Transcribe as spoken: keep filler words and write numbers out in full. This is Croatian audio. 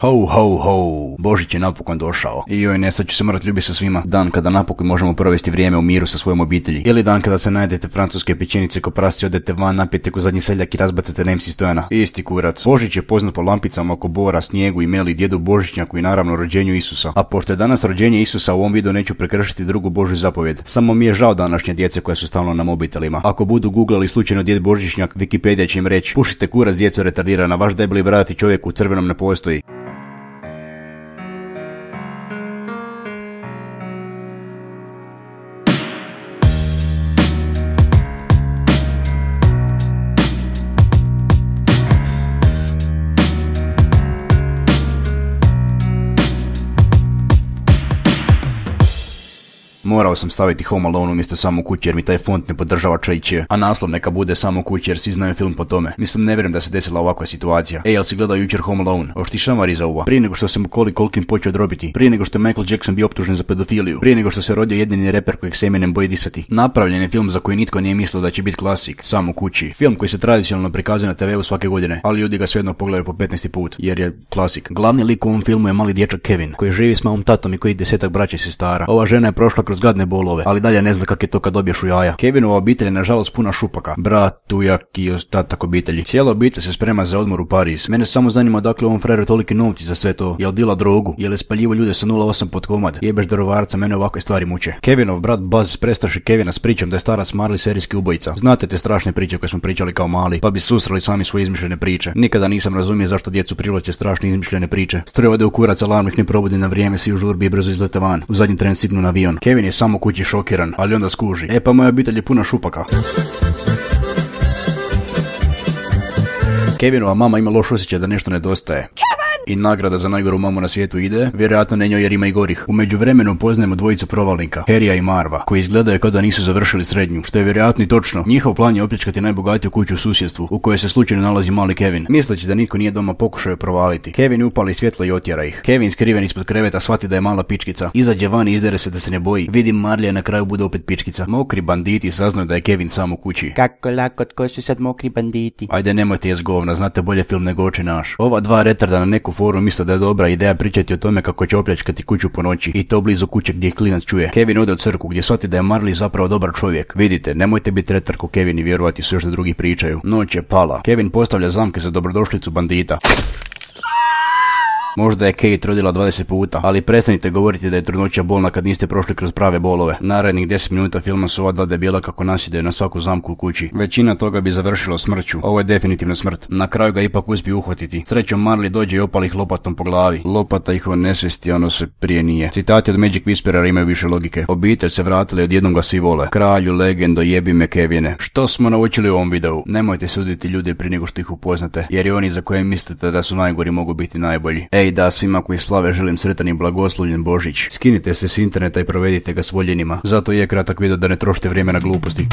Ho, ho, ho, Božić je napokon došao. I joj, ne, sad ću se morat ljubiti sa svima. Dan kada napokon možemo provesti vrijeme u miru sa svojom obitelji. Ili dan kada se najedete francuske pečenice ko prasci, odete van, napijete ko zadnji seljak i razbacate na em ce Stojana. Isti kurac. Božić je poznat po lampicama oko bora, snijegu i meli, djedu Božićnjaku i naravno rođenju Isusa. A pošto je danas rođenje Isusa, u ovom videu neću prekršiti drugu Božju zapovjed. Samo mi je žao današnje djece koja su stalno na mobitelima. Ako budu googlali slučajno djed Božićnjak, Wikipedia će im reći: pušite kurac, djeco retardirana, vaš debeli brat i čovjek u crvenom ne postoji. Morao sam staviti Home Alone umjesto Samo kući jer mi taj font ne podržava čajče, a naslov neka bude Samo kući jer svi znaju film po tome. Mislim, ne vjerujem da se desila ovakva situacija. Ej, jel si gledao jučer Home Alone? Oš ti šamari za ovo. Prije nego što se Macaulay Culkin počeo drobiti, prije nego što je Michael Jackson bio optužen za pedofiliju, prije nego što se rodio jedini reper kojeg se Eminem boji disati. Napravljen je film za koji nitko nije mislio da će biti klasik, Samo kući. Film koji se tradicionalno prikazuje na te veu svake godine, ali ljudi ga svejedno pogledaju po petnaesti put, jer je klasik. Glavni lik u ovom filmu je mali dječak Kevin, koji živi s malom tatom i koji desetak braće i sestara. Ova žena je prošla kroz gadne bolove, ali dalje ne zna kak je to kad dobiješ u jaja. Kevinova obitelj je nažalost puna šupaka. Brat, tujak i ostatak obitelji. Cijela obitelj se sprema za odmor u Pariz. Mene samo zanima dakle ovom frajeru toliki novci za sve to. Jel dila drogu? Jel je spaljivo ljude sa nula osam pod komad? Jebeš darovarca, mene ovakve stvari muče. Kevinov brat Buzz prestraši Kevina s pričom da je starac Marley serijski ubojica. Znate te strašne priče koje smo pričali kao mali, pa bi susreli sami svoje izmišljene priče. Nikada nisam razumio zašto djecu privlače strašne izmišljene priče. Stroj ode u kurac, alarm ih ne probudi na vrijeme, svi u žurbi i brzo izlete van. U zadnji tren signu na avion. Kevin je samo kući šokiran, ali onda skuži: e pa moja obitelj je puna šupaka. Kevinova mama ima loš osjećaj da nešto nedostaje. I nagrada za najgoru mamu na svijetu ide, vjerojatno ne njoj jer ima i gorih. U međuvremenu poznajemo dvojicu provalnika, Harrya i Marva, koji izgledaju kao da nisu završili srednju, što je vjerojatno i točno. Njihov plan je opljačkati najbogatiju kuću u susjedstvu, u kojoj se slučajno nalazi mali Kevin. Misleći da nitko nije doma, pokušaju provaliti. Kevin upali svjetlo i otjera ih. Kevin skriven ispod kreveta shvati da je mala pičkica. Izađe van i izdere se da se ne boji. Vidim Marlija, na kraju bude opet pičkica. Mokri banditi saznaju da je Kevin sam u kući. Kako lako, tko su sad mokri banditi? Ajde, nemojte jest govna, znate bolje film nego Oče naš. Ova dva retarda na neku foru misle da je dobra ideja pričati o tome kako će opljačkati kuću po noći, i to blizu kuće gdje klinac čuje. Kevin ode u crkvu gdje shvati da je Marley zapravo dobar čovjek. Vidite, nemojte biti retar ko Kevin i vjerovati sve što drugi pričaju. Noć je pala. Kevin postavlja zamke za dobrodošlicu bandita. Možda je Kate rodila dvadeset puta, ali prestanite govoriti da je trudnoća bolna kad niste prošli kroz prave bolove. Narednih deset minuta filma su ova dva debila kako nasjedaju na svaku zamku u kući. Većina toga bi završilo smrću. Ovo je definitivno smrt. Na kraju ga ipak uspiju uhvatiti. Srećom Marley dođe i opali ih lopatom po glavi. Lopata ih onesvesti, ono se prije nije. Citati od Magic Whisperera imaju više logike. Obitelj se vratila i odjednom ga svi vole. Kralju, legendo, jebi me Kevine. Što smo naučili u ovom videu? Nemojte suditi ljude prije nego što ih upoznate, jer i oni za koje mislite da su najgori mogu biti najbolji. Ej da, svima koji slave želim sretan i blagoslovljen Božić. Skinite se s interneta i provedite ga s voljenima. Zato je kratak video da ne trošite vrijeme na gluposti.